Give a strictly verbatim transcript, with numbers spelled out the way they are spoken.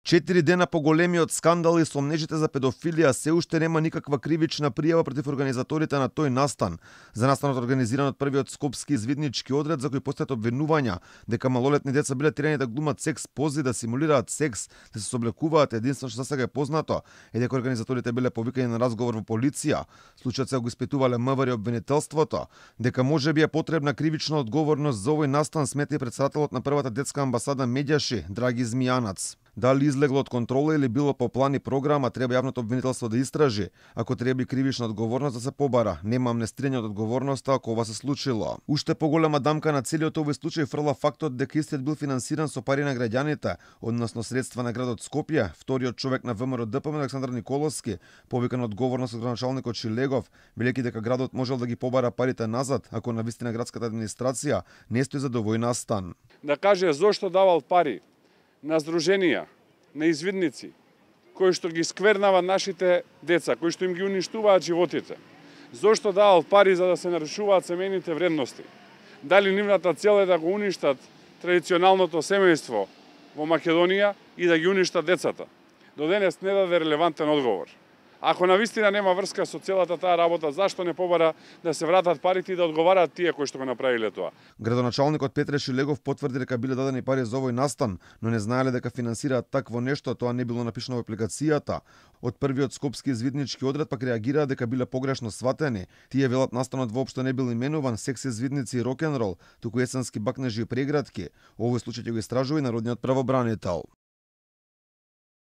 Четири дена по големиот скандал и сомнежите за педофилија се уште нема никаква кривична пријава против организаторите на тој настан. За настанот организиран од првиот скопски извиднички одред за кој постојат обвинувања дека малолетни деца биле терени да глумат секс пози, да симулираат секс, да се сооблекуваат, единствено што засега е познато е дека организаторите биле повикани на разговор во полиција. Случајот се го испитувале МВР и обвинителството, дека можеби е потребна кривична одговорност за овој настан, смета и претседателот на првата детска амбасада Медјаши, Драги Змијанац. Дали излегло од контрола или било по план и програма, треба јавното обвинителство да истражи. Ако треба и кривична одговорност да се побара, нема амнестирање од одговорноста ако ова се случило. Уште поголема дамка на целиот овој случај фрла фактот дека истиот бил финансиран со пари на граѓаните, односно средства на градот Скопје. Вториот човек на ВМРО-ДПМ, Александар Николовски, повикан одговорност од градоначалникот Шилегов, велејќи дека градот можел да ги побара парите назад ако навистина градската администрација не стои за овој настан. Да каже зошто давал пари на здруженија, на извидници, кои што ги сквернаваат нашите деца, кои што им ги уништуваат животите. Зошто давал пари за да се нарушуваат семејните вредности? Дали нивната цел е да го уништат традиционалното семејство во Македонија и да ги уништат децата? До денес не даде релевантен одговор. Ако навистина нема врска со целата таа работа, зашто не побара да се вратат парите и да одговараат тие кои што го направиле тоа? Градоначалникот Петре Шилегов потврди дека биле дадени пари за овој настан, но не знаеле дека финансираат такво нешто, тоа не било напишано во апликацијата. Од првиот скопски извиднички одред пак реагираа дека биле погрешно сватени. Тие велат настанот воопшто не бил именуван секс извидници и рок-н-рол, туку есенски бакнежи и прегратки. Овој случај ќе го истражува и народниот правобранител.